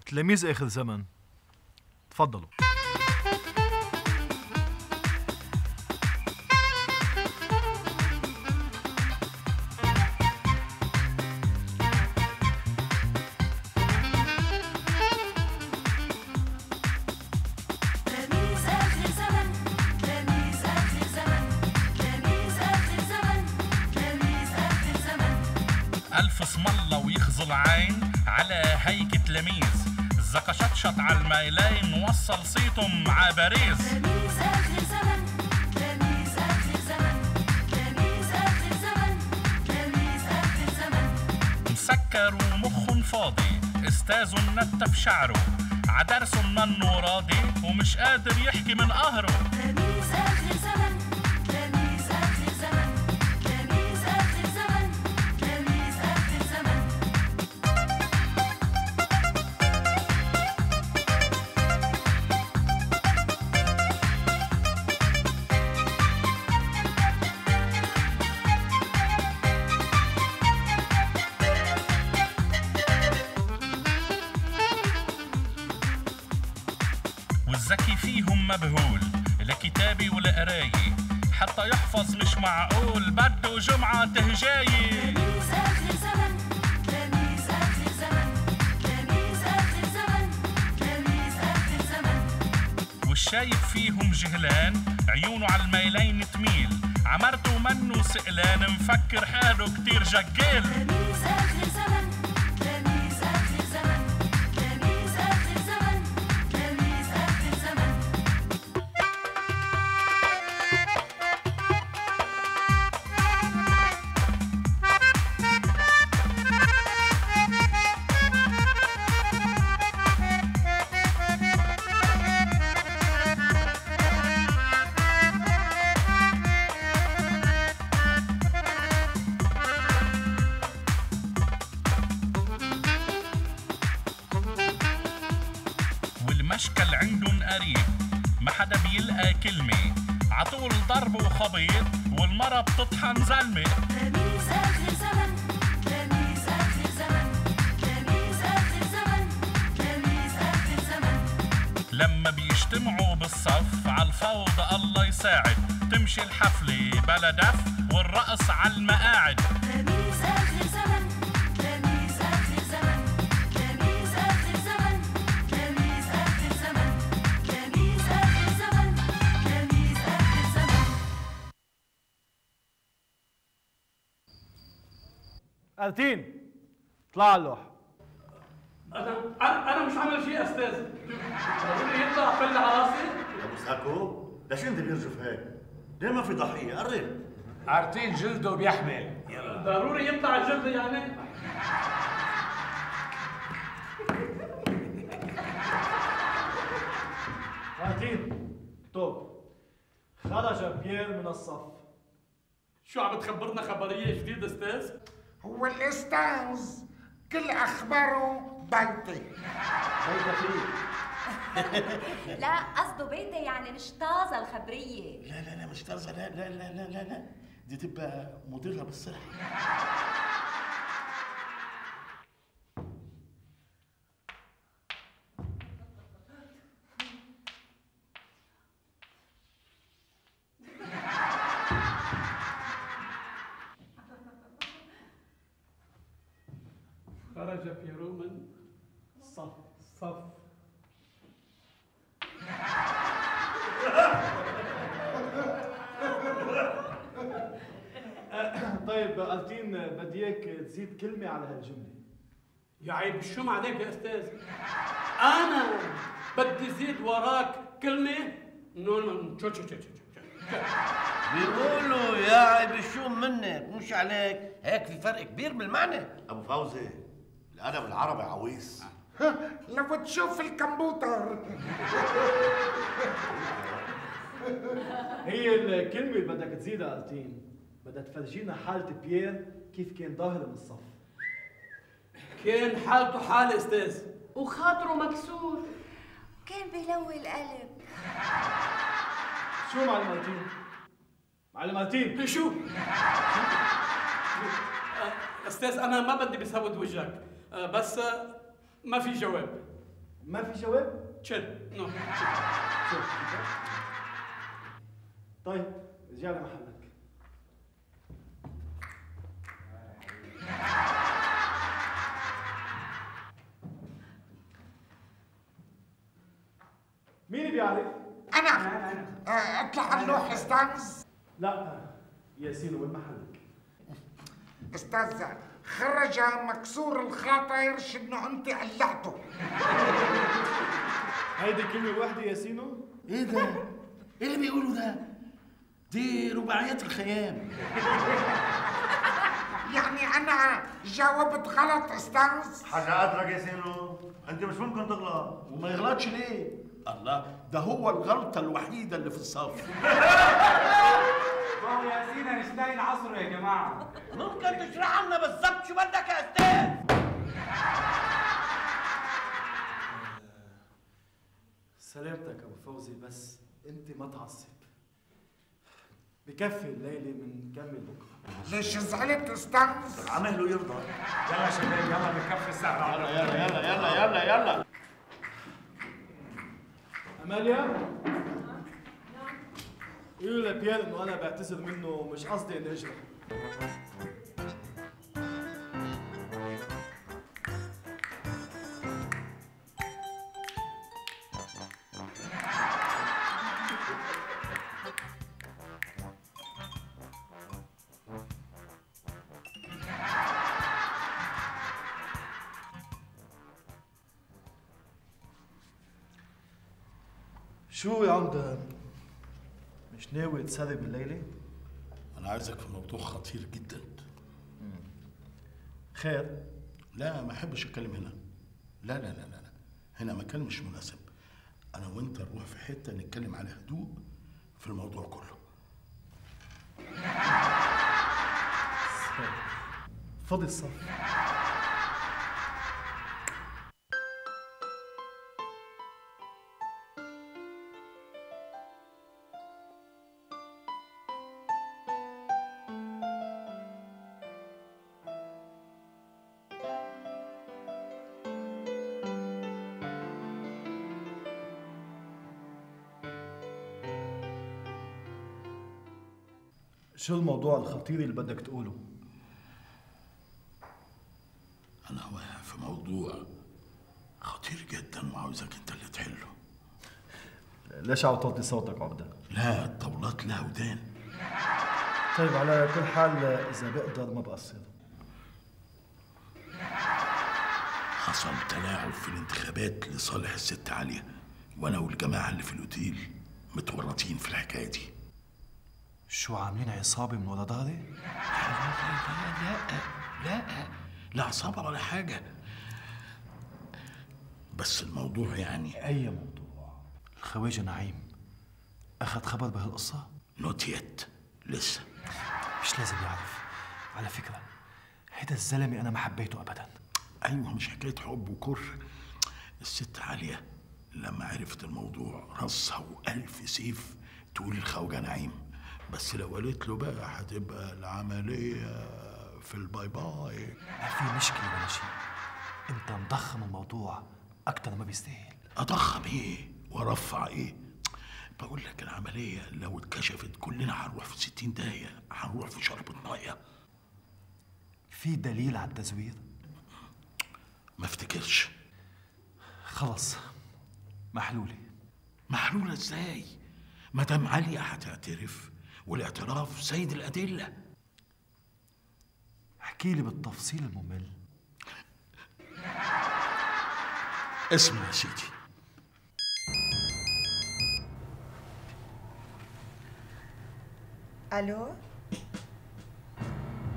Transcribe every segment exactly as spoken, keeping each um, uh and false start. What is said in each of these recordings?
تلاميذ آخر زمن. تفضلوا. ألف اسم الله ويخزي العين على هيك تلاميذ، زكا شطشط على الميلين وصل صيتهم ع باريس. تلاميذ آخر زمن، تلاميذ آخر زمن، تلاميذ آخر زمن، تلاميذ آخر زمن. مسكر ومخن فاضي، استاذه منتف شعره، عدرسه منه راضي ومش قادر يحكي من قهره. تلاميذ آخر زمن، تلاميذ آخر زمن، تلاميذ آخر زمن، تلاميذ آخر زمن. والذكي فيهم مبهول لكتابي والقراية، حتى يحفظ مش معقول بده جمعة تهجاية. تلاميذ آخر زمن، تلاميذ آخر زمن، تلاميذ آخر زمن، تلاميذ آخر زمن. والشايف فيهم جهلان عيونه على الميلين تميل، عمرته منه سئلان مفكر حاله كتير جقال. تلاميذ آخر زمن، تلاميذ آخر زمن، تلاميذ آخر زمن، تلاميذ آخر زمن. والمشكل عندن قريب، ما حدا بيلقى كلمة، عطول ضرب وخبيط والمرة بتطحن زلمة. تلاميذ آخر زمن، تلاميذ آخر زمن، تلاميذ آخر زمن، تلاميذ آخر زمن. لما بيجتمعوا بالصف عالفوضى الله يساعد، تمشي الحفلة بلا دف والرقص عالمقاعد. تلاميذ آخر زمن، تلاميذ آخر زمن، تلاميذ آخر زمن، تلاميذ آخر زمن، تلاميذ آخر زمن، تلاميذ آخر زمن. ألتين اطلع على اللوح. انا انا أنا مش عامل شيء استاذ. ضروري يطلع فل على راسي. ابو ساكو ليش انت بيرجف هيك؟ ليه ما في ضحيه؟ قرب. عارتين جلده بيحمل. يلا ضروري يطلع الجلد يعني. ألتين توب. خرج بيير من الصف. شو عم تخبرنا خبريه جديده استاذ؟ هو الأستاذ كل أخباره بيتي. بيتك ليه؟ لا قصده بيتي يعني مش طازه الخبريه. لا لا لا مش طازه، لا لا لا لا لا لا دي تبقى مضره بالصحه. خرج بيرو من صف صف. طيب ألتين بدي اياك تزيد كلمة على هالجملة. يا عيب الشم عليك يا استاذ. انا بدي زيد وراك كلمه. نو نو شو شو شو شو بيقولوا يا عيب الشوم منك مش عليك، هيك في فرق كبير بالمعنى. ابو فوزي الادب العربي عويص. لو تشوف الكمبيوتر. هي الكلمة اللي بدك تزيدها ألتين بدها تفرجينا حالة بيير كيف كان ظاهر من الصف. كان حالته حالة استاذ وخاطره مكسور. كان بيلوي القلب. شو معلم ألتين؟ معلم ألتين شو؟ استاذ انا ما بدي بسود وجهك، بس ما في جواب. ما في جواب؟ تشل نو شوف طيب ارجع لمحلك. مين بيعرف؟ انا آه، اطلع على اللوح استاذ. لا ياسين وين محلك؟ استاذ خرج مكسور الخاطر شنو انت قلعته. هيدي كلمة واحدة ياسينو؟ ايه ده؟ ايه اللي بيقولوا ده؟ دي رباعيات الخيام. يعني انا جاوبت غلط استاذ؟ حاجة أدرك يا سينو، أنت مش ممكن تغلط. وما يغلطش ليه؟ الله، ده هو الغلطة الوحيدة اللي في الصف. ما هو ياسين مش لاقي العصر يا جماعة. ممكن تشرح لنا بالظبط شو بدك يا استاذ؟ سلامتك ابو فوزي، بس انت ما تعصب. بكفي الليله بنكمل بكره. ليش زعلت استاذ؟ عمله يرضى. يلا شباب يلا بنكفي الساعة. يلا يلا يلا يلا يلا يلا. اماليا قولوا لبيير انه انا بعتذر منه ومش قصدي اني اجرح. شو يا عمده؟ مش ناوي تسرب الليلة؟ أنا عايزك في موضوع خطير جدا. خير؟ لا ما أحبش أتكلم هنا. لا لا لا لا هنا مكان مش مناسب. أنا وأنت نروح في حتة نتكلم على هدوء في الموضوع كله. فضي الصف. شو الموضوع الخطير اللي بدك تقوله؟ أنا واقع في موضوع خطير جدا وعاوزك أنت اللي تحله. ليش عم توطي صوتك عبده؟ لا الطاولات لها ودان. طيب على كل حال إذا بقدر ما بقصر. حصل تلاعب في الانتخابات لصالح الست عالية، وأنا والجماعة اللي في الأوتيل متورطين في الحكاية دي. شو عاملين عصابة من ورا ظهري؟ لا لا لا لا لا عصابة ولا حاجة، بس الموضوع يعني. أي موضوع؟ الخواجة نعيم أخذ خبر بهالقصة؟ نوت يت، لسه. مش لازم يعرف. على فكرة هيدا الزلمة أنا ما حبيته أبدا. أيوة مش حكاية حب وكره. الست عالية لما عرفت الموضوع رصها وألف سيف تقول الخواجة نعيم، بس لو قالت له بقى هتبقى العملية في الباي باي. ما في مشكلة ولا شيء، أنت مضخم الموضوع أكتر ما بيستاهل. أضخم إيه وأرفع إيه؟ بقول لك العملية لو اتكشفت كلنا هنروح في ستين داهية، هنروح في شرب المية. في دليل على التزوير؟ ما افتكرش. خلص محلولة. محلولة ازاي؟ مدام عليا هتعترف والاعتراف سيد الأدلة. احكي لي بالتفصيل الممل. اسمع يا سيدي. الو؟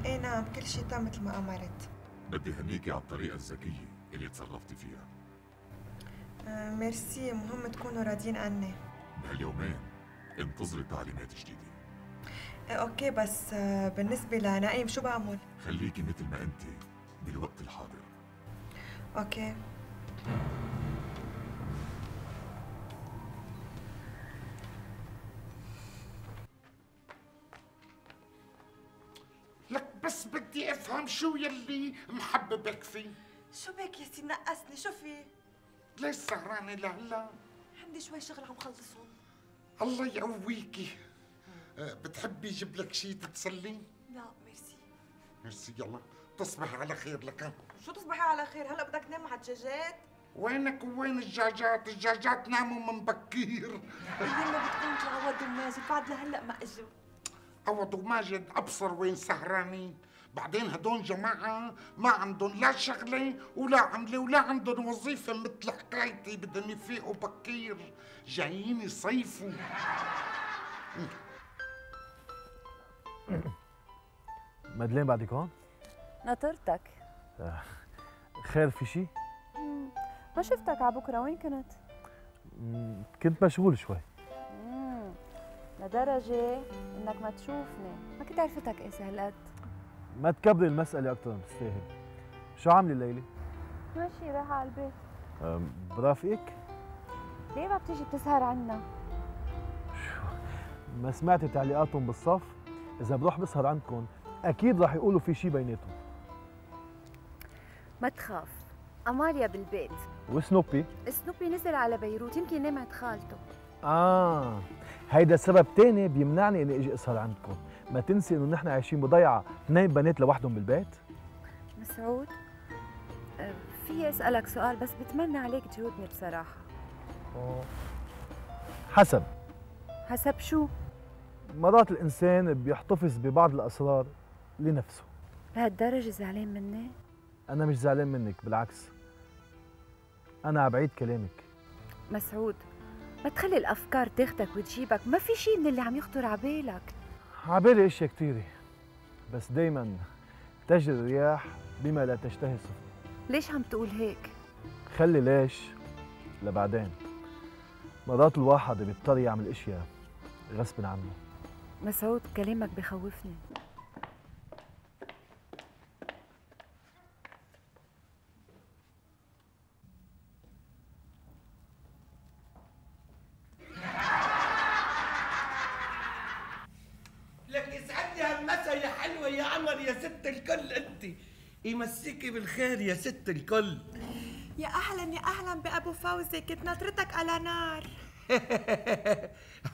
ايه نعم كل شيء تم مثل ما امرت. بدي هنيكي على الطريقة الذكية اللي تصرفتي فيها. آه ميرسي، مهم تكونوا راضيين عني. بهاليومين انتظري تعليمات جديدة. آه اوكي، بس آه بالنسبة لنعيم شو بعمل؟ خليكي مثل ما انت بالوقت الحاضر. اوكي. لك بس بدي افهم شو يلي محببك فيه. شو بك يا سي نقصني، شو في؟ ليش سهرانة لهلا؟ عندي شوي شغل عم خلصهم. الله يقويكي. أه بتحبي يجيب لك شيء تتسلي؟ لا ميرسي. ميرسي يلا تصبحي على خير لك. شو تصبحي على خير؟ هلا بدك تنام مع الدجاجات؟ وينك وين الدجاجات؟ الدجاجات ناموا من بكير. يلا بتكون عوض وماجد بعد لهلا ما اجوا. عوض وماجد ابصر وين سهرانين. بعدين هدول جماعة ما عندهم لا شغلة ولا عملة ولا عندهم وظيفة مثل حكايتي، بدهم يفيقوا بكير، جايين يصيفوا. مدلين بعدك هون؟ ناطرتك. آه. خير في شي؟ ما شفتك على بكره، وين كنت؟ مم. كنت مشغول شوي. امم لدرجة انك ما تشوفني، ما كنت عرفتك ايه هالقد. ما تكبري المسألة أكثر من تستاهل. شو عاملة الليلة؟ ماشي رايحة على البيت. برافقك؟ ليه ما بتيجي بتسهر عنا؟ شو ما سمعتي تعليقاتهم بالصف؟ إذا بروح بسهر عندكم أكيد راح يقولوا في شي بيناتهم. ما تخاف، أماليا بالبيت. وسنوبي؟ سنوبي نزل على بيروت، يمكن نام عند خالته. آه هيدا سبب تاني بيمنعني إني أجي أسهر عندكم. ما تنسي إنه نحن عايشين بضيعة، اثنين بنات لوحدهم بالبيت. مسعود، أه في أسألك سؤال بس بتمنى عليك تجاوبني بصراحة. أوه. حسب. حسب شو؟ مرات الإنسان بيحتفظ ببعض الأسرار لنفسه. لهالدرجة زعلان مني؟ أنا مش زعلان منك، بالعكس. أنا عبعيد كلامك. مسعود، ما تخلي الأفكار تاخدك وتجيبك، ما في شيء من اللي عم يخطر عبالك. عبالي اشياء كثيرة، بس دايما تجري الرياح بما لا تشتهي السفن. ليش عم تقول هيك؟ خلي ليش لبعدين. مرات الواحد بيضطر يعمل اشياء غصب عنه. مسعود كلامك بخوفني. لك يسعدني هالمسا يا حلوة يا عمر يا ست الكل. انت يمسيكي بالخير يا ست الكل. يا اهلا يا اهلا بابو فوزي، كنت ناطرتك على نار.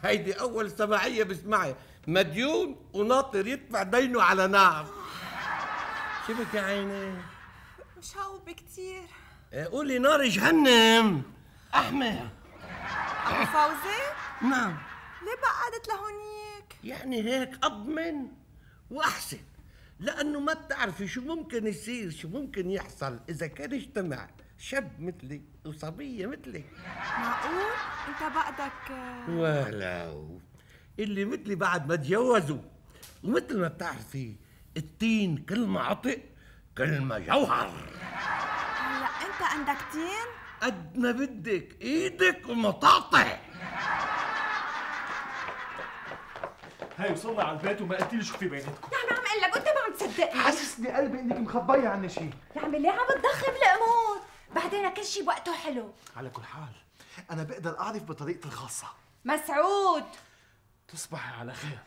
هيدي اول سماعية بسمعها، مديون وناطر يدفع دينه على نار. شبك يا عيني؟ مشوب كتير. قولي نار جهنم احمر. ابو فوزي؟ نعم. ليه بقعدت لهونيك؟ يعني هيك اضمن واحسن، لانه ما بتعرفي شو ممكن يصير، شو ممكن يحصل اذا كان اجتمع شاب مثلي وصبيه مثلي. معقول؟ انت بقدك ولو اللي مثلي بعد ما تجوزوا، ومثل ما بتعرفي التين كل ما عطق كل ما جوهر. هلا انت عندك تين؟ قد ما بدك، ايدك ومطاطع. هاي وصلنا على البيت وما قلتي لي شو في بيناتكم. يعني عم اقول لك وانت ما عم تصدقني. حاسسني قلبي انك مخبيه عني شيء. يا عمي ليه عم تضخم الامور؟ بعدين كل شيء بوقته حلو. على كل حال انا بقدر اعرف بطريقتي الخاصه. مسعود تصبحي على خير.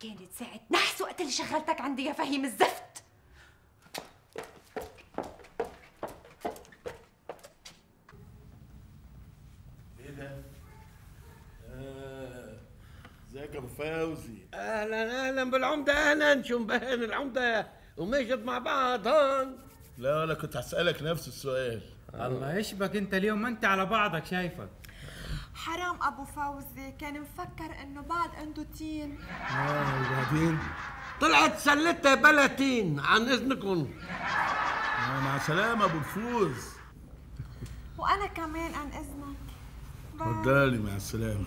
كانت ساعة نحس وقت اللي شغلتك عندي يا فهيم الزفت. ايه ده؟ اه ازيك يا ابو فوزي؟ اهلا اهلا بالعمده، اهلا. شو مبين العمده وماجد مع بعض هون؟ لا انا كنت هسألك نفس السؤال. الله يشبك انت اليوم، ما انت على بعضك شايفك. حرام ابو فوزي، كان مفكر انه بعد عنده تين. اه وبعدين؟ طلعت سلتها بلاتين. عن اذنكم. آه مع السلامه ابو الفوز. وانا كمان عن اذنك. تفضلي مع السلامه.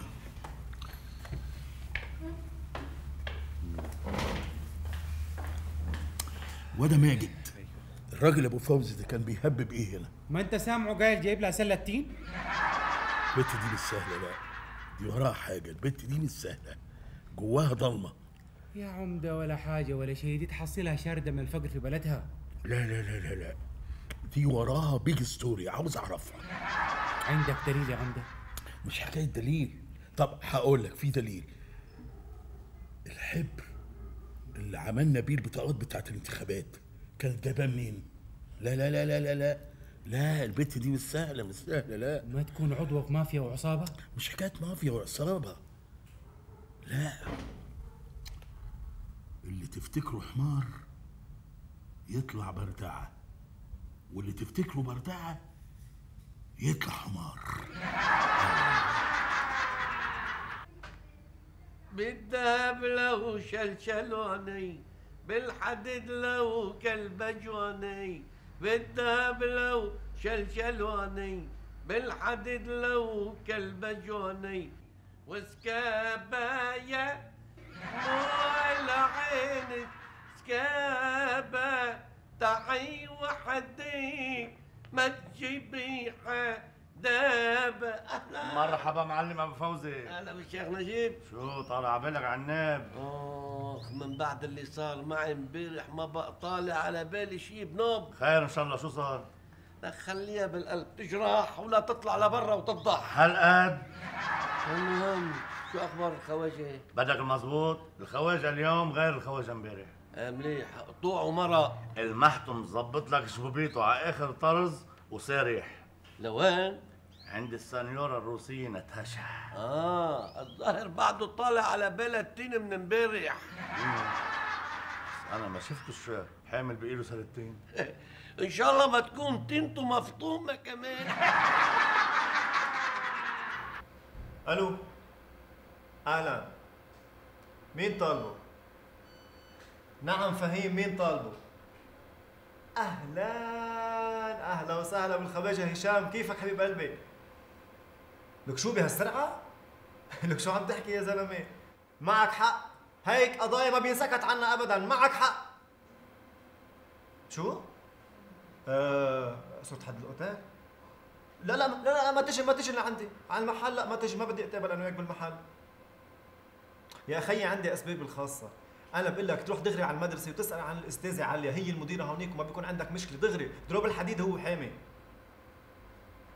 وده ماجد الراجل ابو فوزي ده كان بيهبب ايه هنا؟ ما انت سامعه قايل جايب لها سله تين؟ البت دي مش سهله، لا دي وراها حاجه. البت دي مش سهله، جواها ضلمه. يا عمده ولا حاجه ولا شيء، دي تحصلها شارده من الفقر في بلدها. لا لا لا لا لا دي وراها بيج ستوري، عاوز اعرفها. عندك دليل يا عمده؟ مش حكايه دليل. طب هقول لك في دليل. الحبر اللي عملنا بيه البطاقات بتاعت الانتخابات كدابان مين؟ لا لا لا لا لا لا لا البت دي مش سهلة مش سهلة لا. ما تكون عضوة في مافيا وعصابة؟ مش حكاية مافيا وعصابة، لا. اللي تفتكره حمار يطلع بردعة، واللي تفتكره بردعة يطلع حمار. بالذهب لو شلشلوني، بالحديد لو كالبجواني، بالذهب لو شلشلوني، بالحديد لو كالبجواني، وسكابايا مو العين سكابا تعي وحدي ما تجيبي حدابة. أهلا مرحبا معلم ابو فوزي. اهلا بالشيخ نجيب. شو طالع بالك على الناب؟ اخ من بعد اللي صار معي امبارح ما بقى طالع على بالي شيء بنوب. خير ان شاء الله. شو صار؟ لك خليها بالقلب تجرح ولا تطلع لبرا وتفضح. هالقد؟ المهم شو اخبار الخواجه؟ بدك المزبوط؟ الخواجه اليوم غير الخواجه امبارح. آه مليح، قطوع ومرق. المحتم مظبط لك شبوبيته على اخر طرز وسارح. لوين؟ عند السنيورة الروسية ناتاشا. اه الظاهر بعده طالع على بالها التين من امبارح. انا ما شفتش حامل بايده سنتين. ان شاء الله ما تكون تينته مفطومه كمان. الو اهلا، مين طالبه؟ نعم فهيم، مين طالبه؟ اهلا اهلا وسهلا بالخواجه هشام، كيفك حبيب قلبي؟ لك شو بهالسرعه؟ لك شو عم تحكي يا زلمه؟ معك حق، هيك قضايا ما بينسكت عنها ابدا، معك حق. شو؟ آه صرت حد الاوتيل؟ لا لا لا لا ما تجي ما تجي لعندي على المحل، لا ما تجي، ما بدي اتقابل انا وياك بالمحل. يا اخي عندي اسبابي الخاصه، انا بقول لك تروح دغري على المدرسه وتسال عن الاستاذه عليا، هي المديره هونيك وما بيكون عندك مشكله، دغري ضرب الحديد هو حامي.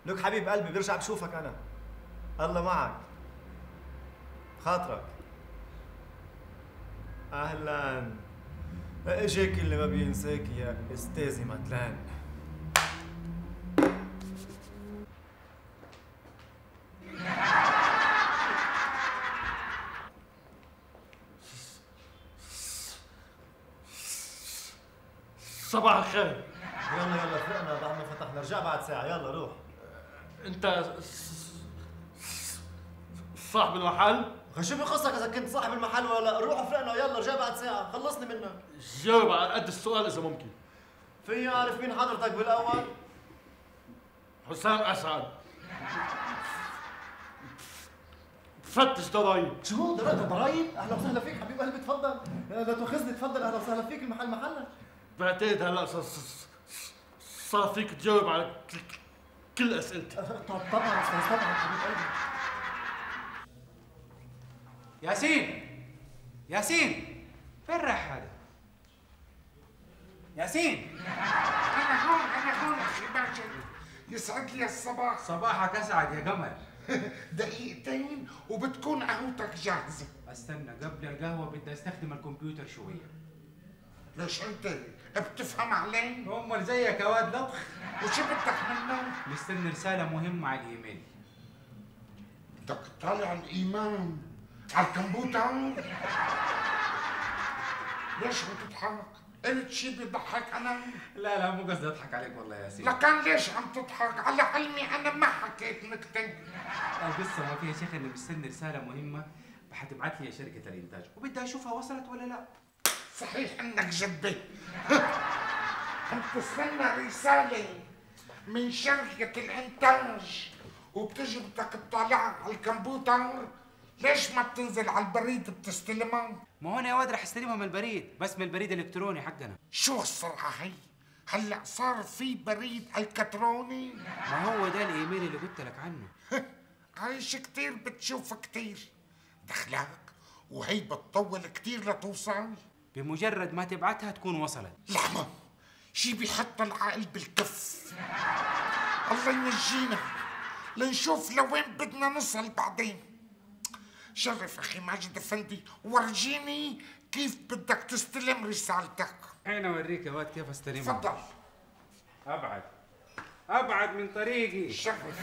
لك حبيب قلبي برجع بشوفك انا. الله معك. خاطرك. اهلا. اجاك اللي ما بينساك يا استاذي متلان. صباح الخير. يلا يلا فرقنا بعد ما فتحنا، رجع بعد ساعة، يلا روح. انت صاحب المحل؟ شو بخصك اذا كنت صاحب المحل ولا لا؟ روح فرقنا يلا، رجع بعد ساعة، خلصني منك. جاوب على قد السؤال اذا ممكن. فيني اعرف مين حضرتك بالاول؟ حسام اسعد. فتش ضرايب. شو ضرايب؟ اهلا وسهلا فيك حبيب قلبي، تفضل. لا تاخذني، تفضل، اهلا وسهلا فيك، المحل محلك. بعتقد هلا صار فيك تجاوب على كل اسئلتي. طبعا استاذ، طبعا حبيب قلبي. ياسين ياسين فين رايح هذا؟ ياسين انا هون انا هون اخي ماجد، يسعد لي الصباح. صباحك اسعد يا قمر. دقيقتين وبتكون قهوتك جاهزه. استنى قبل القهوه بدي استخدم الكمبيوتر شويه. ليش انت بتفهم علي؟ امال زيك يا واد لطخ. وشو بدك منه؟ مستني رساله مهمه على الايميل. بدك تطالع الايمان على الكمبيوتر؟ ليش عم تضحك؟ قلت شي بيضحك انا؟ لا لا مو قصدي اضحك عليك والله يا ياسين. لكان ليش عم تضحك؟ على علمي انا ما حكيت نكته. القصه ما فيها شيخ، اني مستني رساله مهمه حتبعت لي شركه الانتاج وبدي اشوفها وصلت ولا لا. صحيح انك جدي. عم تستنى رساله من شركه الانتاج وبتجي بدك تطالعها على الكمبيوتر؟ ليش ما بتنزل على البريد بتستلمها؟ ما هون يا واد رح استلمها من البريد، بس من البريد الالكتروني حقنا. شو السرعه هي؟ هلا صار في بريد الكتروني؟ ما هو ده الايميل اللي قلت لك عنه. عايش كتير بتشوف كتير، دخلك وهي بتطول كتير لتوصل. بمجرد ما تبعتها تكون وصلت. لحظة، شي بيحط العقل بالكف. الله ينجينا لنشوف لوين بدنا نصل بعدين. شرف اخي ماجد افندي، ورجيني كيف بدك تستلم رسالتك. انا اوريك يا واد كيف استلمها. تفضل. ابعد ابعد من طريقي. شرف.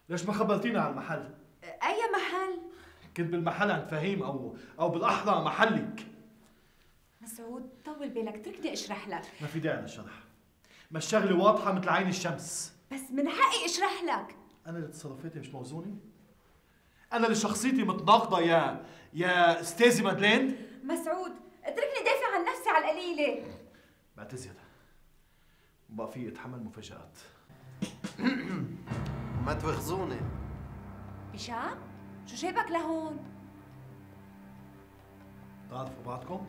ليش ما خبرتينا على المحل؟ أي محل؟ كنت بالمحل عند فهيم او او بالاحرى محلك. مسعود طول بالك، اتركني اشرح لك. ما في داعي للشرح، ما الشغله واضحه مثل عين الشمس. بس من حقي اشرح لك. انا اللي تصرفاتي مش موزونه؟ انا اللي شخصيتي متناقضه يا يا استاذي مادلين؟ مسعود اتركني دافع عن نفسي على القليله. بعتذر، بقى في اتحمل مفاجآت. ما تواخذوني. هشام شو جايبك لهون؟ بتعرفوا بعضكم؟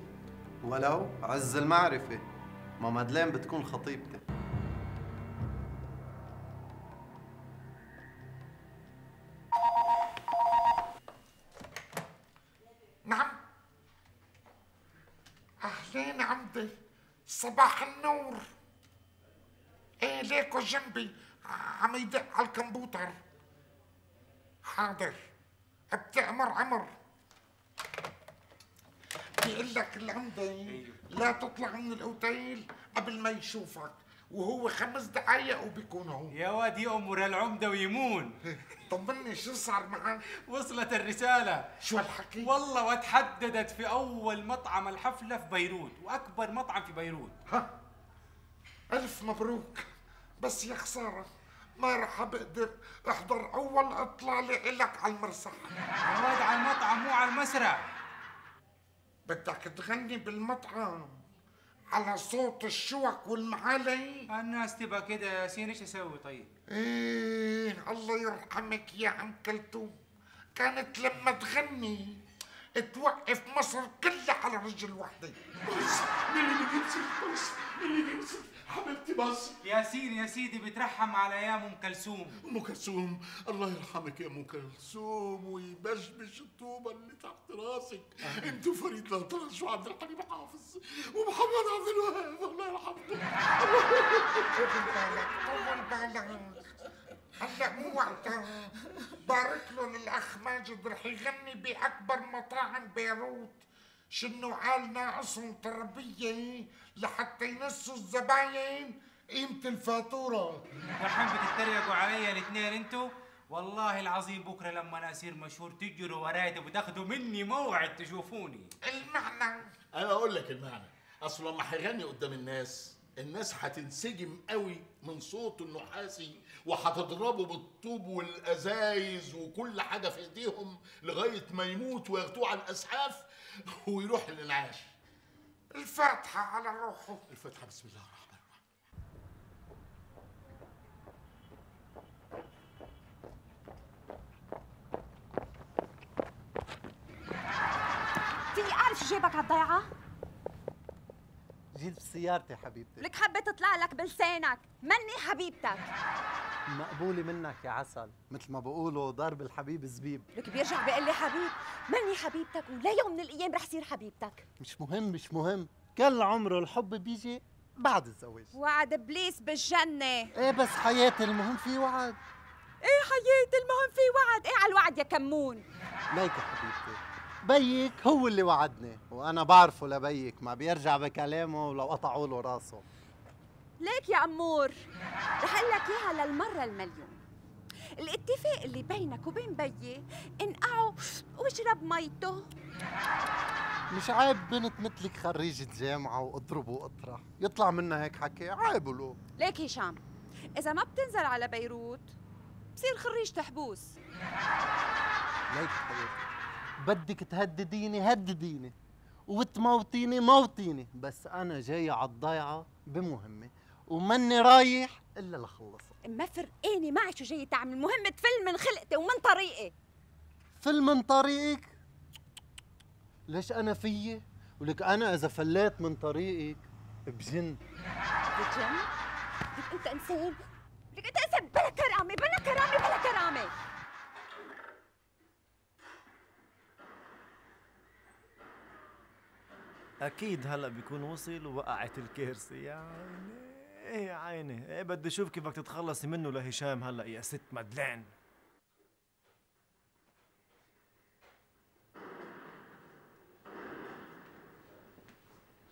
ولو عز المعرفة، ما مادلين بتكون خطيبتي. نعم. أهلين عمدي، صباح النور. ايه ليكو جنبي عم يدق على الكمبيوتر. حاضر، بتأمر عمر. بيقول لك العمدي لا تطلع من الاوتيل قبل ما يشوفك، وهو خمس دقايق وبيكون هون. يا واد يأمر العمدة ويمون. طمني شو صار معك؟ وصلت الرسالة. شو هالحكي؟ والله وتحددت في أول مطعم الحفلة في بيروت، وأكبر مطعم في بيروت. ها ألف مبروك، بس يا خسارة ما رح بقدر احضر أول إطلالة إلك على المسرح. يا واد على المطعم مو على المسرح. بدك تغني بالمطعم على صوت الشوك والمعالي؟ الناس تبقى كده يا ياسين، ايش اسوي طيب؟ ايه الله يرحمك يا عم كلثوم، كانت لما تغني توقف مصر كلها على رجل وحده. بس مين اللي بينزل؟ بس مين اللي بينزل؟ حبيبتي بس. ياسين يا سيدي بترحم على ايام ام كلثوم. ام كلثوم الله يرحمك يا ام كلثوم ويبشبش الطوبه اللي تحت راسك. انت وفريد الأطرش وعبد الحليم حافظ ومحمد عبد الوهاب الله يرحمكم. طول بالك طول بالك، هلا مو وقتها. بارك له للاخ ماجد رح يغني باكبر مطاعم بيروت. شنو عال ناقصهم تربيه لحتى ينسوا الزباين قيمة الفاتورة. دحين بتتريقوا علي الاثنين انتوا؟ والله العظيم بكره لما انا اصير مشهور تجروا وراي وتاخذوا مني موعد تشوفوني. المعنى؟ انا اقول لك المعنى. اصل لما هيغني قدام الناس، الناس هتنسجم قوي من صوته النحاسي وهتضربه بالطوب والازايز وكل حاجه في ايديهم لغايه ما يموت وياخدوه على الاسعاف ويروح للانعاش. الفاتحه على روحه. الفاتحه بسم الله الرحمن الرحيم. فيني اعرف شو جايبك على الضيعه؟ جيت بسيارتي حبيبتي. لك حبة تطلع لك بلسانك، مني حبيبتك. مقبولة منك يا عسل، مثل ما بقولوا ضرب الحبيب زبيب. لك بيرجع بيقول لي حبيب، مني حبيبتك ولا يوم من الايام رح صير حبيبتك. مش مهم مش مهم، كل عمره الحب بيجي بعد الزواج. وعد ابليس بالجنة. ايه بس حياتي المهم في وعد. ايه حياتي المهم في وعد، ايه على الوعد يا كمون. ليك يا حبيبتي، بيك هو اللي وعدني وانا بعرفه لبيك ما بيرجع بكلامه ولو قطعوا له راسه. ليك يا امور، رح اقول لك اياها للمره المليون. الاتفاق اللي بينك وبين بيي انقعوا واشرب ميته. مش عيب بنت مثلك خريجة جامعة واضرب واطرح يطلع منها هيك حكي؟ عيب له. ليك هشام، اذا ما بتنزل على بيروت بصير خريج تحبوس. ليك حبيبتي، بدك تهدديني هدديني وتموتيني موتيني، بس انا جاي على الضيعه بمهمه وماني رايح الا لخلصها. ما فرقاني معي شو جاي تعمل، المهم تفل من خلقتي ومن طريقي. فل من طريقك؟ ليش انا فيي؟ ولك انا اذا فليت من طريقك بجن. بجن؟ لك انت انسان، لك انت انسان بلا كرامه بلا كرامه بلا كرامه. اكيد هلا بيكون وصل ووقعت الكرسي يا عيني. ايه يا عيني، ايه بدي اشوف كيفك تتخلصي منه لهشام هلا يا ست مدلين.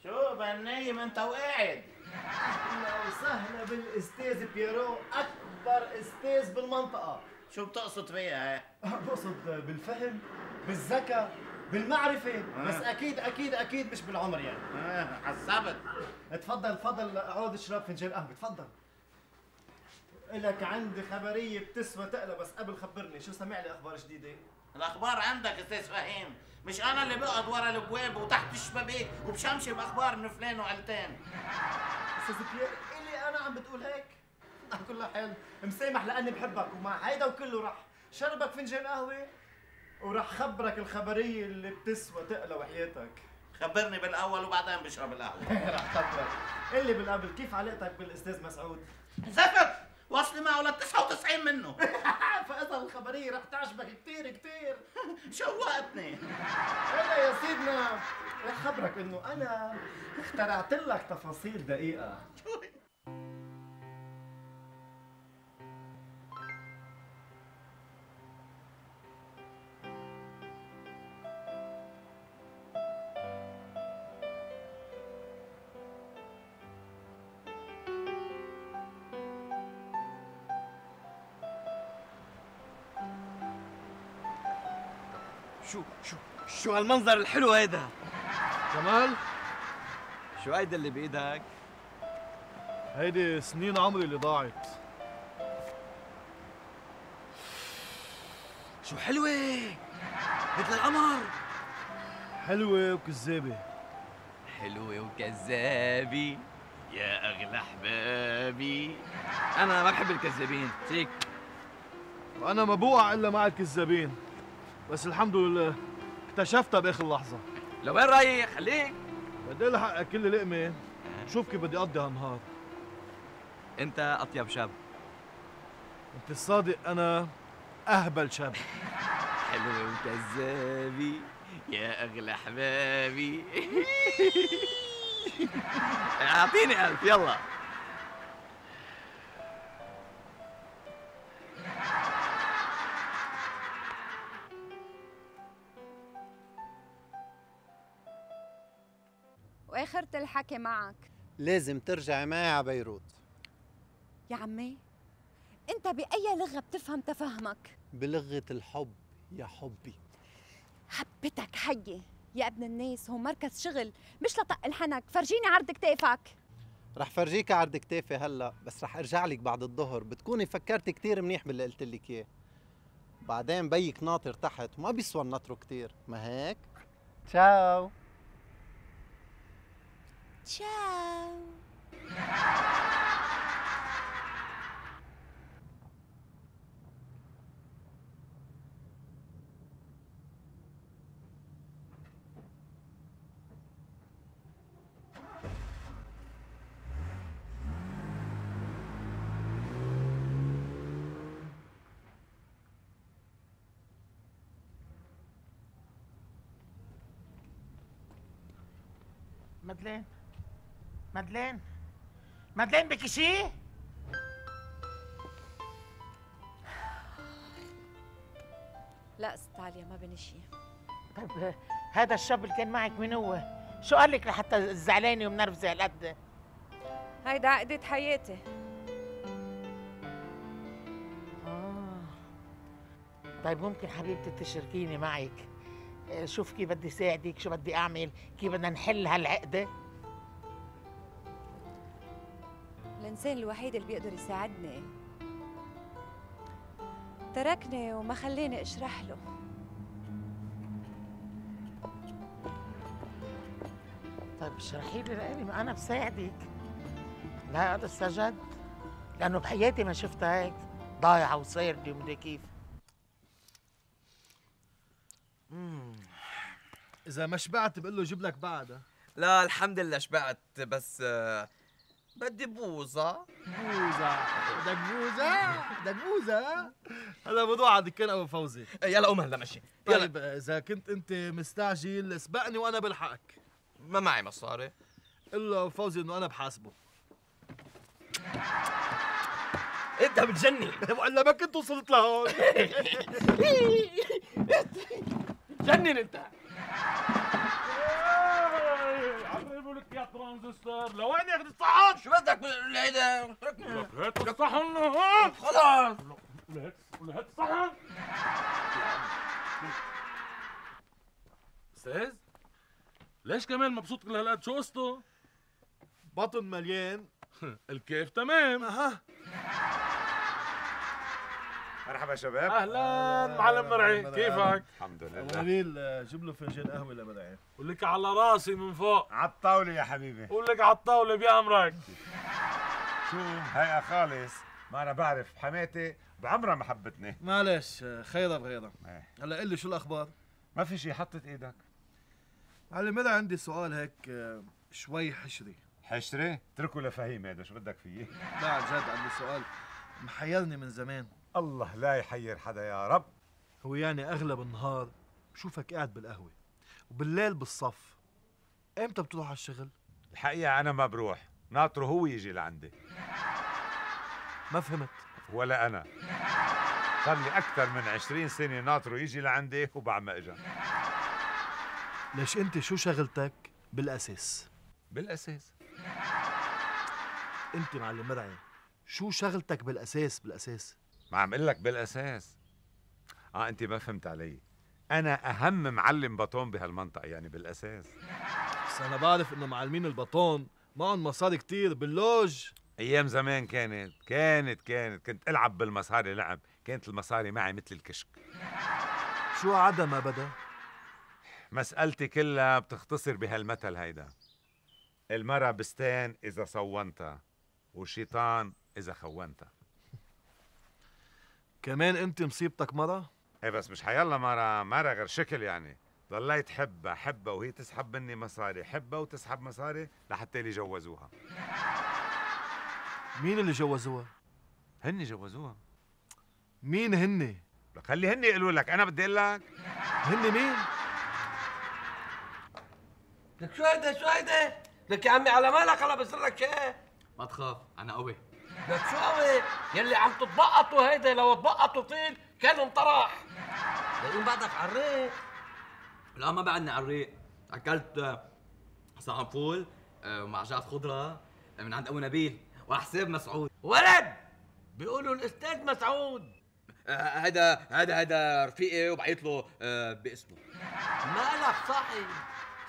شو بنايم انت وقاعد؟ اهلا وسهلا بالاستاذ بيرو، اكبر استاذ بالمنطقه. شو بتقصد فيها هي؟ بقصد بالفهم، بالذكاء، بالمعرفه، آه. بس اكيد اكيد اكيد مش بالعمر يعني. اه حسبت. تفضل تفضل اقعد اشرب فنجان قهوه، تفضل. لك عندي خبريه بتسوى تقلى، بس قبل خبرني شو سمع لي اخبار جديده؟ الاخبار عندك استاذ فهيم، مش انا اللي بقعد ورا الابواب وتحت الشبابيك وبشمشم اخبار من فلان وعلتان. استاذ بيير اللي انا عم بتقول هيك؟ على كل حال مسامح لاني بحبك، ومع هيدا وكله رح شربك فنجان قهوه ورح خبرك الخبريه اللي بتسوى تقلى وحياتك. خبرني بالاول وبعدين بشرب القهوه. رح خبرك. قل لي بالقبل كيف علاقتك بالاستاذ مسعود؟ زفت واصلي معه لل تسعة وتسعين منه. فاذا الخبريه رح تعجبك كثير كثير. شوقتني. هلا يا سيدنا رح خبرك انه انا اخترعت لك تفاصيل دقيقه. شو شو شو هالمنظر الحلو هيدا؟ جمال شو هيدا اللي بايدك؟ هيدي سنين عمري اللي ضاعت. شو حلوة مثل القمر. حلوة وكذابة. حلوة وكذابة يا أغلى أحبابي. أنا ما بحب الكذابين، فيك. وأنا ما بوقع إلا مع الكذابين، بس الحمد لله اكتشفتها بآخر لحظة. لوين رايح؟ خليك. بدي الحق كل لقمة، شوف كيف بدي أقضي هالنهار. أنت أطيب شاب. أنت الصادق، أنا أهبل شاب. حلوة وكذابة يا أغلى أحبابي. أعطيني ألف يلا. واخرة الحكي معك لازم ترجعي معي على بيروت. يا عمي انت بأي لغة بتفهم تفهمك؟ بلغة الحب يا حبي. حبتك حية يا ابن الناس، هو مركز شغل مش لطق الحنك. فرجيني عرض كتافك. رح فرجيك عرض كتافي هلا، بس رح ارجع لك بعد الظهر بتكوني فكرتي كتير منيح باللي قلت لك اياه. بعدين بيك ناطر تحت وما بيسوى النطر كتير، ما هيك؟ تشاو. تشاو. مدلين مدلين مدلين بك شي؟ لا ست عليا ما بني شي. طيب هذا الشاب اللي كان معك مين هو؟ شو قال لك لحتى زعلانه ومنرفزه هالقد؟ هيدا عقدة حياتي. آه. طيب ممكن حبيبتي تشاركيني معك؟ شوف كيف بدي ساعدك، شو بدي اعمل، كيف بدنا نحل هالعقده. الانسان الوحيد اللي بيقدر يساعدني تركني وما خليني اشرح له. طيب اشرحي لي لإلي، ما انا بساعدك. لا لسه جد، لانه بحياتي ما شفتها هيك ضايعه وصاير لي ومدري كيف. امم اذا ما شبعت بقول له جيب لك بعدها. لا الحمد لله شبعت، بس آه بدي بوظة. بوظة؟ بدك بوظة؟ بدك بوظة؟ هذا موضوع على دكان ابو فوزي. يلا قوم هلا مشي. طيب اذا كنت انت مستعجل اسبقني وانا بلحقك. ما معي مصاري. قل له فوزي انه انا بحاسبه. انت بتجنن ولا ما كنت وصلت لهون. جنن انت. عم بيقول لك يا ترانزستور لوين ياخذ الصحن؟ شو بدك هيدا؟ اتركني هات الصحن خلاص ولهات ولهات الصحن. استاذ ليش كمان مبسوط كل هالقد؟ شو قصته؟ بطن مليان. الكيف تمام. اها. مرحبا شباب. اهلا معلم مرعي، كيفك؟ الحمد لله. نبيل جيب له فنجان قهوه لمرعي. قول لك على راسي من فوق. على الطاوله يا حبيبي. قول لك على الطاوله بأمرك. شو هيئة خالص، ما انا بعرف حماتي بعمرها ما حبتني. معلش خيرها بغيرها. هلا قل لي شو الاخبار؟ ما في شيء، حطت ايدك. معلم مرعي عندي سؤال هيك شوي حشري. حشري؟ اتركه لفهيم هذا، شو بدك فيه؟ لا عن جد عندي سؤال محيرني من زمان. الله لا يحير حدا يا رب. هو يعني اغلب النهار بشوفك قاعد بالقهوه وبالليل بالصف، امتى بتروح على الشغل؟ الحقيقة أنا ما بروح، ناطره هو يجي لعندي. ما فهمت. ولا أنا. صار لي أكثر من عشرين سنة ناطره يجي لعندي وبعد ما إجا. ليش أنت شو شغلتك بالأساس؟ بالأساس؟ أنت معلم مرعي شو شغلتك بالأساس بالأساس؟ ما عم اقول لك بالاساس. اه انت ما فهمت علي. انا اهم معلم بطون بهالمنطقه يعني بالاساس. بس انا بعرف انه معلمين البطون معهم مصاري كتير باللوج. ايام زمان كانت كانت كانت كنت العب بالمصاري لعب، كانت المصاري معي مثل الكشك. شو عدا ما بدا؟ مسألتي كلها بتختصر بهالمثل هيدا: المرة بستان اذا صونتها والشيطان اذا خونتها. كمان انت مصيبتك مرة؟ ايه بس مش حيلا مرة، مرة غير شكل يعني. ضليت حبها حبها وهي تسحب مني مصاري، حبها وتسحب مصاري لحتى اللي جوزوها. مين اللي جوزوها؟ هني جوزوها. مين هني؟ لك خلي هني يقولوا لك، انا بدي اقول لك. هني مين؟ لك شو هيدا شو هيدا؟ لك يا عمي على مالك هلا بصير لك شيء؟ ما تخاف انا قوي. لك شو قوي؟ يلي عم تتبقطوا هيدا لو تبقطوا طيل كان انطرح. ليقوم بعدك على الريق. لا ما بعدني على الريق، اكلت صحن فول مع جعف خضره من عند ابو نبيل وحساب مسعود. ولد بيقولوا الاستاذ مسعود. هذا هذا هذا رفيقي وبعيط له باسمه. مالك صاحي؟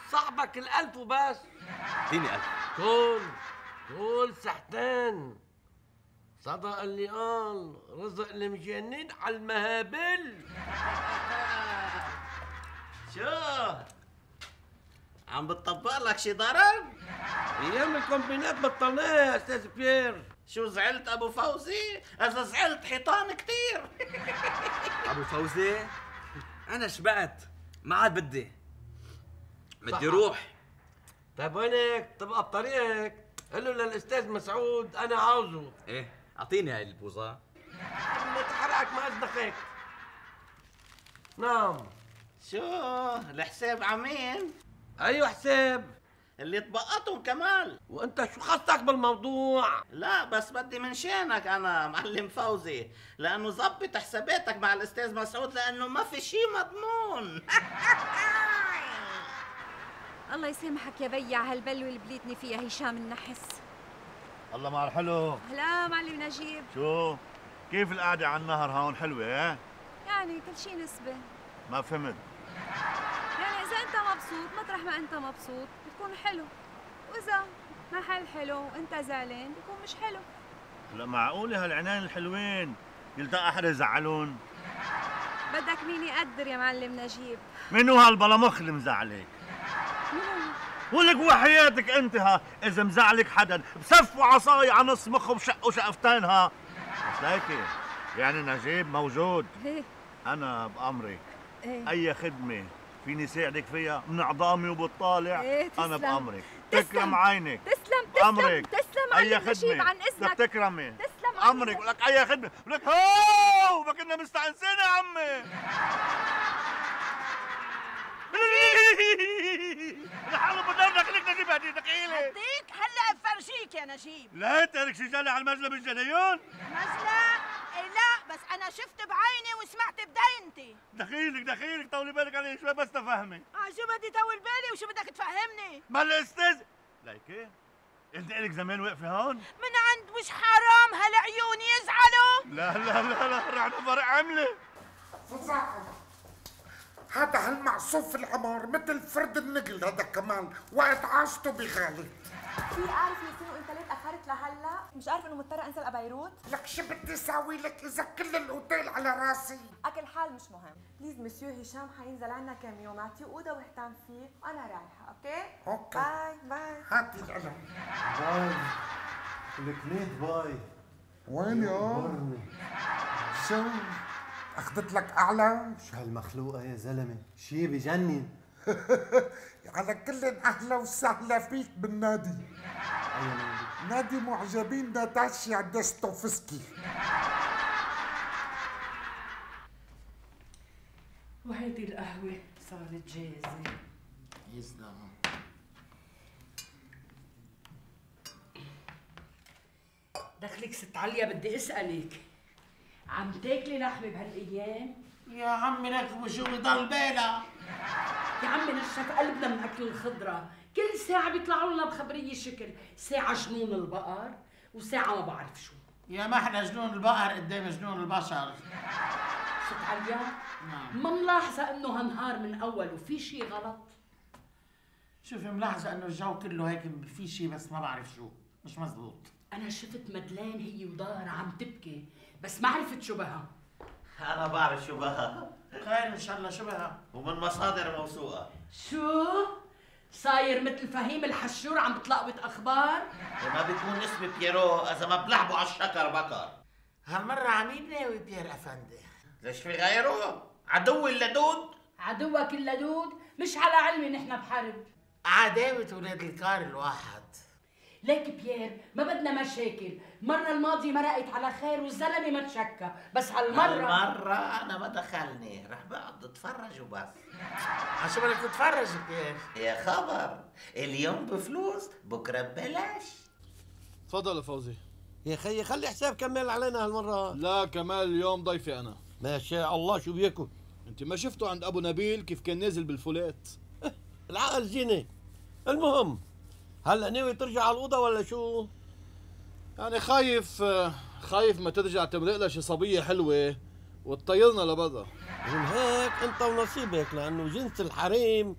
صاحبك الألف وبس. اعطيني ألف. قول قول سحتان. صدق اللي قال رزق المجانين على المهابل. شو عم بتطبق لك شي ضرب؟ ايام الكومبينات بطلناها يا استاذ بيير. شو زعلت ابو فوزي؟ اذا زعلت حيطان كتير. ابو فوزي انا شبعت ما عاد بدي بدي روح. طيب وينك؟ تبقى بطريقك قل له للاستاذ مسعود انا عاوزه. ايه اعطيني هاي البوظه. ما تحرقك ما اصدقك. نعم. شو الحساب عمين؟ ايوه حساب اللي تبقطهم كمال. وانت شو خصك بالموضوع؟ لا بس بدي من شانك انا معلم فوزي، لانه ظبط حساباتك مع الاستاذ مسعود لانه ما في شيء مضمون. الله يسامحك يا بي على هالبلوه اللي بليتني فيها هشام النحس. الله مع الحلو. هلا معلم نجيب. شو كيف القعده على النهر هون؟ حلوه ها؟ يعني كل شيء نسبه. ما فهمت. يعني اذا انت مبسوط مطرح ما انت مبسوط بتكون حلو، واذا محل حلو وانت زعلان بيكون مش حلو. لا معقوله هالعنان الحلوين يلتقى حدا يزعلون؟ بدك مين يقدر يا معلم نجيب؟ منو هالبلمخ اللي مزعلك؟ ولك وحياتك انت ها اذا مزعلك حدا بسفوا عصاي على نص مخه بشقوا شقفتين ها. بس هيك يعني نجيب موجود. ايه انا بامرك. ايه اي خدمه فيني ساعدك فيها من عظامي وبالطالع. ايه انا بامرك. تسلم. تكرم عينك. تسلم بامرك. تسلم اي معلم نجيب خدمه عن اذنك. بدك تكرمي. تسلم امرك. ولك اي خدمه ولك هو ما كنا مستانسين يا عمي. لحاله بدرنا خليك نجيب هدي ثقيله. هديك هلا بفرجيك فيك يا نجيب. لا تارك شجالة على المجلة بالجنيون. مجلة؟ إيه لا، بس أنا شفت بعيني وسمعت بدينتي. دخيلك دخيلك طولي بالك علي شوي بس تفهمي. اه شو بدي طول بالي وشو بدك تفهمني؟ ما الاستاذ ليكي انت الك زمان واقفه هون؟ من عند مش حرام هالعيون يزعلوا؟ لا لا لا لا رح فرق عملة. فظاعة. هذا هالمعصوف العمار مثل فرد النقل هذا كمان وقت عاشته بغالي. في اعرف ياسين وانت ليه تاخرت لهلا؟ مش عارف انه مضطره انزل على بيروت؟ لك شو بدي اساوي لك اذا كل الاوتيل على راسي؟ اكل حال مش مهم. بليز مسيو هشام حينزل عنا كم يوم، اعطيه اوضه واهتم فيه وانا رايحه، اوكي؟ اوكي باي باي. هاتي القلم. باي الكليت باي. وين يا؟ شو؟ اخذت لك اعلى؟ شو هالمخلوقة يا زلمة؟ شي بجنن. على كل اهلا وسهلا فيك بالنادي. أي نادي؟ نادي معجبين ناتاشيا دوستويفسكي. وهيدي القهوة صارت جاهزة. يسلم. دخلك ست عليا بدي اسألك، عم تاكلي لحمة بهالأيام؟ يا عمي لك وشو بضل بالك؟ يا عمي نشف قلبنا من أكل الخضرة، كل ساعة بيطلعوا لنا بخبرية شكل، ساعة جنون البقر وساعة ما بعرف شو. يا ما احنا جنون البقر قدام جنون البشر. ست عليا؟ نعم. ما ملاحظة إنه هالنهار من أول وفي شي غلط؟ شوفي ملاحظة إنه الجو كله هيك في شي بس ما بعرف شو، مش مزبوط. أنا شفت مدلين هي وضهرها عم تبكي، بس ما عرفت شو بها. أنا بعرف شو بها. خير إن شاء الله شو بها؟ ومن مصادر موثوقة. شو؟ صاير مثل فهيم الحشور عم بتلقوت أخبار؟ ما بيكون اسمي بييرو إذا ما بلعبوا على الشكر بكر. هالمرة عميل ناوي بيير أفندي؟ ليش في غيره؟ عدوي اللدود؟ عدوك اللدود؟ مش على علمي نحن بحرب. عداوة ولاد الكار الواحد. ليك بيير ما بدنا مشاكل، المرة الماضية مرقت على خير والزلمة ما تشكى، بس هالمرة هالمرة أنا ما دخلني، رح بقعد اتفرج وبس. عشو بدك تتفرج بيير؟ يا خبر، اليوم بفلوس بكرة ببلاش. تفضل يا فوزي. يا خيي خلي حساب كمال علينا هالمرة. لا كمال اليوم ضيفي أنا. ما شاء الله شو بياكل؟ أنت ما شفته عند أبو نبيل كيف كان نازل بالفولات؟ العقل زينة. المهم هلا ناوي ترجع على الأوضة ولا شو؟ يعني خايف خايف ما ترجع تمرق لها شي صبية حلوة وتطيرنا لبرا. من هيك أنت ونصيبك لأنه جنس الحريم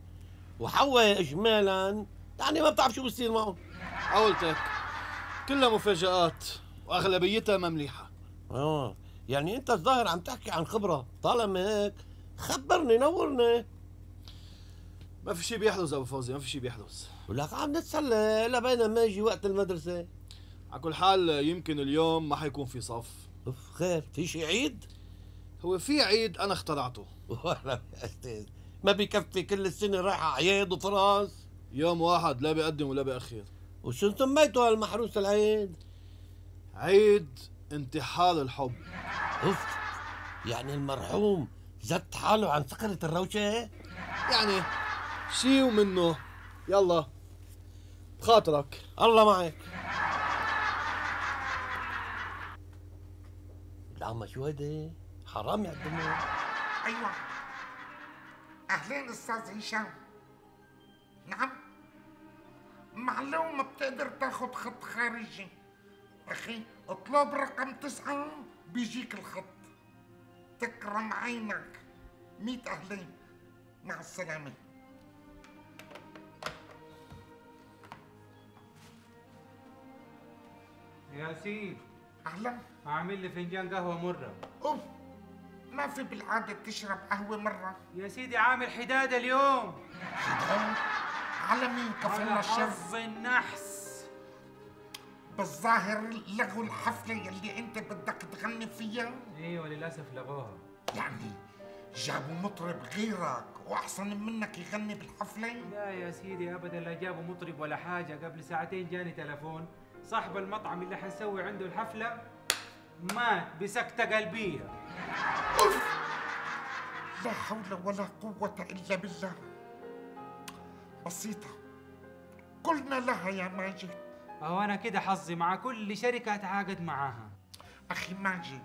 وحواء إجمالا يعني ما بتعرف شو بصير معهم. قولتك كلها مفاجآت وأغلبيتها ما مليحة. آه يعني أنت الظاهر عم تحكي عن خبرة، طالما هيك خبرني نورني. ما في شي بيحدث أبو فوزي، ما في شي بيحدث. ولك عم نتسلى لبين ما يجي وقت المدرسة. على كل حال يمكن اليوم ما حيكون في صف. اوف خير، في شي عيد؟ هو في عيد أنا اخترعته. والله يا أستاذ ما بكفي كل السنة رايحة أعياد وفراس؟ يوم واحد لا بيقدم ولا بيأخر. وشو سميته هالمحروس العيد؟ عيد انتحال الحب. اوف يعني المرحوم زت حاله عن سكرة الروشة؟ يعني شي ومنه. يلا بخاطرك. الله معك. العمى شو هيدي؟ حرام يقدموا. ايوه اهلين استاذ هشام. نعم معلومة بتقدر تاخد خط خارجي. اخي اطلب رقم تسعة بيجيك الخط. تكرم عينك. ميت اهلين مع السلامة. ياسين اهلا. اعمل لي فنجان قهوه مره. اوف ما في بالعاده تشرب قهوه مره. يا سيدي عامل حداد اليوم. حداد؟ على مين كفلنا الشر؟ حظ النحس. بالظاهر لغوا الحفله يلي انت بدك تغني فيها. ايوه للاسف لغوها. يعني جابوا مطرب غيرك واحسن منك يغني بالحفله؟ لا يا سيدي ابدا، لا جابوا مطرب ولا حاجه. قبل ساعتين جاني تلفون صاحب المطعم اللي حنسوي عنده الحفله مات بسكتة قلبية. أوف. لا حول ولا قوة إلا بالله. بسيطة قلنا لها يا ماجد اهو انا كده حظي مع كل شركه اتعاقد معاها. اخي ماجد،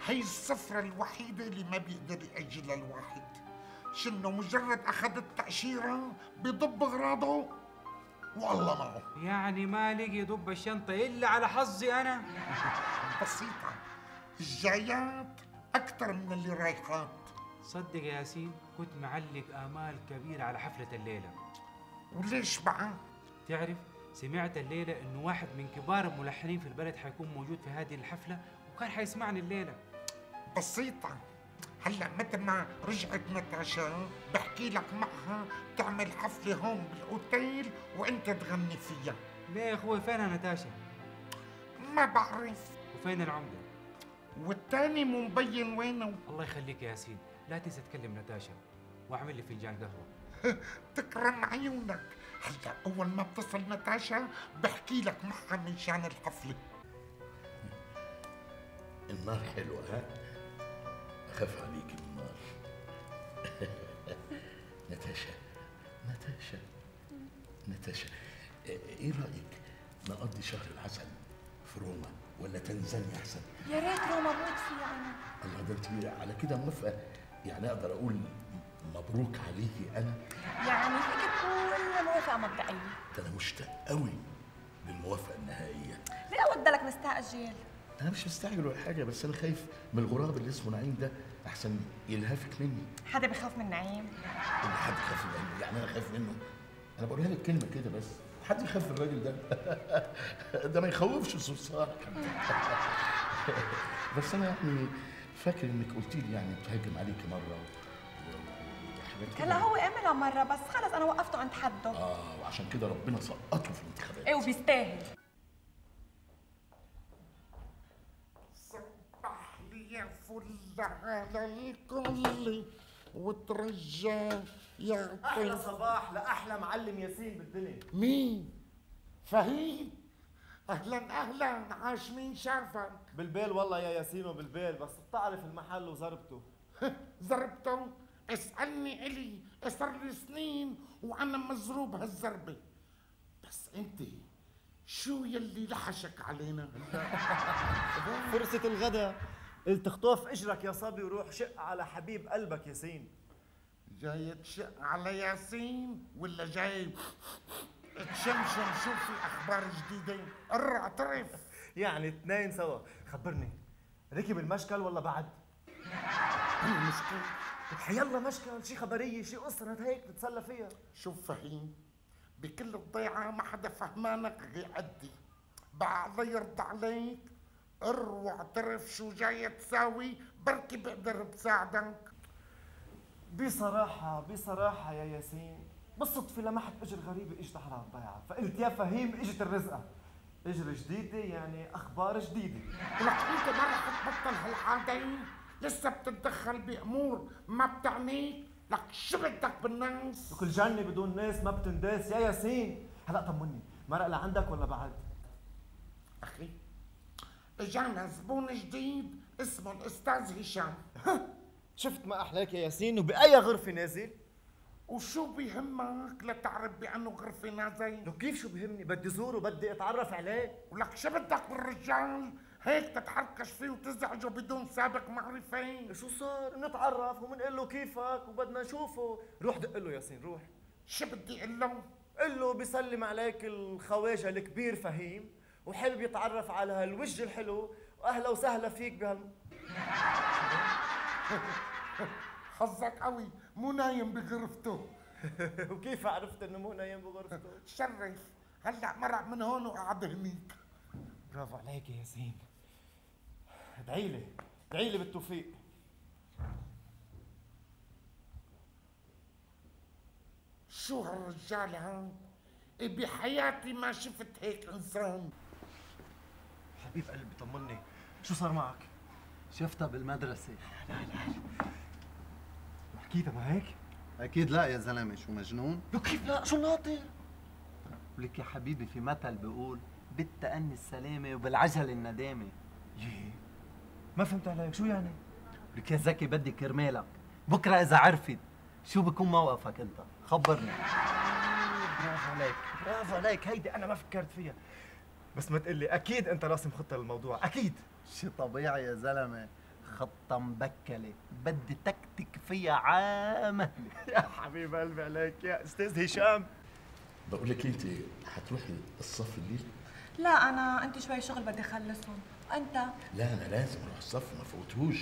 هي السفرة الوحيدة اللي ما بيقدر يأجلها الواحد. شنو مجرد اخذ التأشيرة بيضب اغراضه والله معه. يعني ما لقي ضب الشنطه الا على حظي انا. بسيطة، الجايات اكثر من اللي رايحات. صدق يا ياسين كنت معلق امال كبيره على حفله الليله. وليش بقى؟ تعرف سمعت الليله انه واحد من كبار الملحنين في البلد حيكون موجود في هذه الحفله وكان حيسمعني الليله. بسيطة، هلا متى ما رجعت ناتاشا بحكي لك معها تعمل حفلة هون بالاوتيل وانت تغني فيها. ليه يا اخوي فينها ناتاشا؟ ما بعرف. وفين العمدة؟ والتاني مو مبين وينه. الله يخليك يا ياسين، لا تنسى تكلم ناتاشا واعمل لي فنجان قهوة. تكرم عيونك. هلا أول ما بتصل ناتاشا بحكي لك معها من شان الحفلة. النار حلوة ها؟ أخاف عليك النار. ناتاشا ناتاشا ناتاشا، إيه رأيك نقضي شهر العسل في روما ولا تنزانيا أحسن؟ يا ريت روما موت فيها أنا. الله، ده انت على كده موافقة؟ يعني أقدر أقول مبروك عليكي أنا؟ يعني فيك تقول موافقة مبدئية. ده أنا مشتاق قوي للموافقة النهائية. ليه ودلك مستعجل؟ أنا مش مستعجل ولا حاجة، بس أنا خايف من الغراب اللي اسمه نعيم ده، أحسن يلهفك مني. حدا بخاف من نعيم؟ اللي حد يخاف منه؟ يعني أنا خايف منه؟ أنا بقولها لك كلمة كده بس، حد يخاف من الراجل ده؟ ده ما يخوفش الصرصار. بس أنا يعني فاكر إنك قلت لي يعني تهجم عليكي مرة وحاجات كده. هلا هو عملها مرة بس خلص أنا وقفته عند حده. آه، وعشان كده ربنا سقطه في الانتخابات. إيه وبيستاهل. صبح لي يا فل على الكل وترجى يا احلى صباح لاحلى معلم ياسين بالدنيا. مين؟ فهيم؟ اهلا اهلا، عاش مين شافك؟ بالبيل والله يا ياسين وبالبيل، بس بتعرف المحل وزربته. زربته؟ اسألني إلي، صار لي سنين وأنا مزروب هالزربة. بس أنت شو يلي لحشك علينا هلا؟ فرصة الغدا، قلت اخطف اجرك يا صبي وروح شق على حبيب قلبك ياسين. جاي تشق على ياسين ولا جاي تشمشم شو في أخبار جديدة؟ قر اعترف. يعني اثنين سوا، خبرني ركب المشكل ولا بعد؟ المشكل؟ حيلا مشكل، شي خبرية، شي قصة هيك نتسلى فيها. شوف فهيم، بكل الضيعة ما حدا فهمانك غير قدي. بقى الله يرضى عليك قر واعترف شو جاي تساوي، بركي بقدر بساعدك. بصراحة بصراحة يا ياسين، بالصدفة لمحت اجر غريبة اجت على الضيعة، فقلت يا فهيم اجت الرزقة. اجر جديدة يعني اخبار جديدة. ولك انت ما رح تبطل هالعادة؟ لسه بتتدخل بامور ما بتعنيك؟ لك شو بدك بالناس؟ وكل جنة بدون ناس ما بتنداس يا ياسين. هلا طمني، مرق لعندك ولا بعد؟ اخي اجانا زبون جديد اسمه الاستاذ هشام. شفت ما احلاك يا ياسين، وبأي غرفة نازل؟ وشو بيهمك لتعرف بأنه غرفة نازل؟ لو كيف شو بيهمني، بدي زوره وبدي اتعرف عليه. ولك شو بدك بالرجال؟ هيك تتحركش فيه وتزعجه بدون سابق معرفة؟ شو صار؟ نتعرف ومنقول له كيفك وبدنا نشوفه. روح دق له ياسين روح. شو بدي اقول له؟ قل له بيسلم عليك الخواجه الكبير فهيم وحابب يتعرف على هالوجه الحلو، واهلا وسهلا فيك بهال. حظك قوي مو نايم بغرفته. وكيف عرفت انه مو نايم بغرفته؟ شرف، هلا مرق من هون وقعد هنيك. برافو عليك يا ياسين. ادعي لي ادعي لي بالتوفيق. شو هالرجال هان؟ بحياتي ما شفت هيك انسان. حبيب قلبي طمني، شو صار معك؟ شفتها بالمدرسة. لا لا حكيتها ما هيك؟ أكيد لا يا زلمة، شو مجنون؟ لو كيف لا، شو ناطر؟ ولك يا حبيبي في مثل بيقول بالتأني السلامة وبالعجل الندامة. يي ما فهمت عليك، شو يعني؟ لك يا زكي بدي كرمالك، بكرة إذا عرفت شو بكون موقفك أنت؟ خبرني. برافو عليك برافو عليك، هيدي انا ما فكرت فيها. بس ما تقلي اكيد انت راسم خطه للموضوع، اكيد. شي طبيعي يا زلمه، خطه مبكله بدي تكتك فيها عامله. يا حبيب قلبي عليك يا استاذ هشام. بقول لك انت حتروحي الصف الليل؟ لا انا عندي شوي شغل بدي اخلصهم. انت؟ لا انا لازم اروح الصف ما فوتهوش،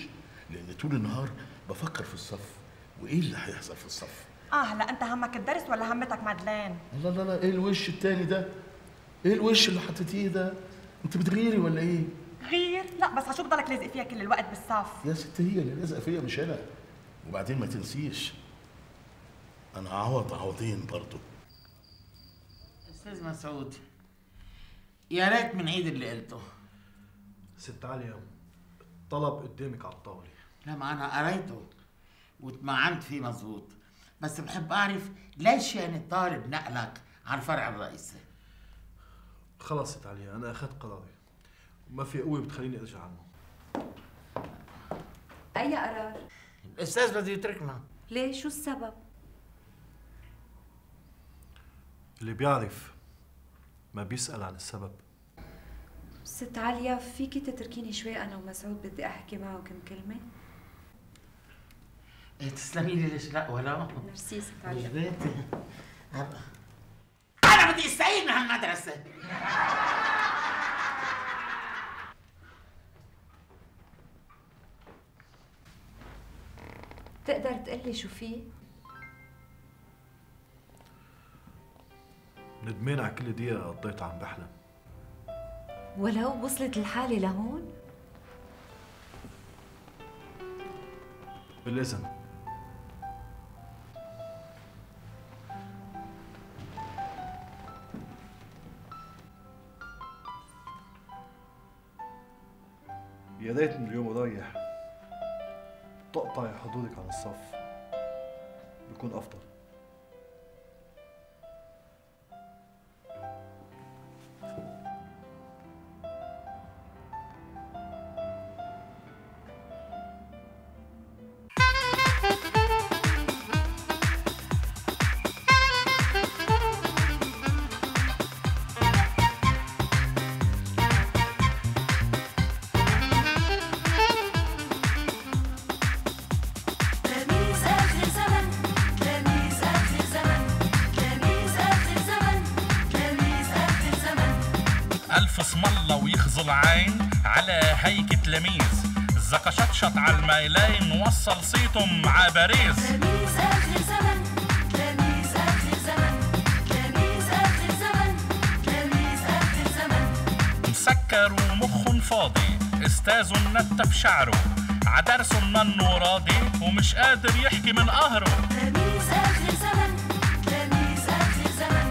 لان طول النهار بفكر في الصف وايه اللي هيحصل في الصف. اه هلا انت همك الدرس ولا همتك مادلين؟ لا لا لا، ايه الوش التاني ده؟ ايه الوش اللي حطيتيه ده؟ انت بتغيري ولا ايه؟ غير؟ لا بس عشو بضلك لازق فيها كل الوقت بالصف؟ يا ست هي اللي لازقه فيا مش انا. وبعدين ما تنسيش انا عوض عوضين برضه. استاذ مسعود، يا ريت من عيد اللي قلته. ست عليا الطلب قدامك على الطاوله. لا ما انا قريته واتمعنت فيه مظبوط، بس بحب اعرف ليش يعني الطالب نقلك على الفرع الرئيسي؟ خلص ست عليا انا اخذت قراري وما في قوه بتخليني ارجع عنه. اي قرار؟ الاستاذ بده يتركنا. ليه؟ شو السبب؟ اللي بيعرف ما بيسأل عن السبب. ست عليا فيكي تتركيني شوي انا ومسعود بدي احكي معه كم كلمه؟ ايه تسلمي لي ليش لا ولا؟ ميرسي ست عليا. رجليتي انا بدي استعيد من هالمدرسه. تقدر تقلي شو فيه؟ ندمان على كل دقيقة قضيتها عم بحلم. ولو وصلت الحالة لهون؟ بالإذن. يا ريت من اليوم ورايح تقطعي حضورك عن الصف، بيكون أفضل. اسم الله ويخزل عين على هيك تلاميذ زكشطشط على الميلين وصل صيتهم ع باريس. تلاميذ اخر زمن، تلاميذ اخر زمن، تلاميذ اخر زمن، تلاميذ اخر زمن. مسكر ومخن فاضي، استاذ نتف شعره، عدرس منه راضي ومش قادر يحكي من قهره. تلاميذ اخر زمن، تلاميذ اخر زمن،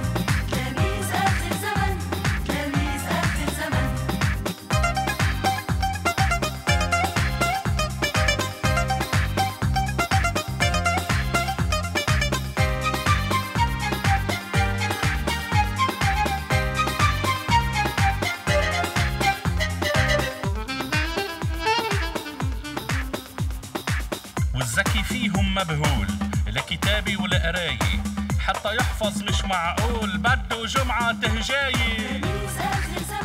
تلاميذ اخر زمن، تلاميذ اخر زمن. والذكي فيهم مبهول لكتابي ولقراية، حتى يحفظ مش معقول بده جمعة تهجاية. تلاميذ اخر زمن.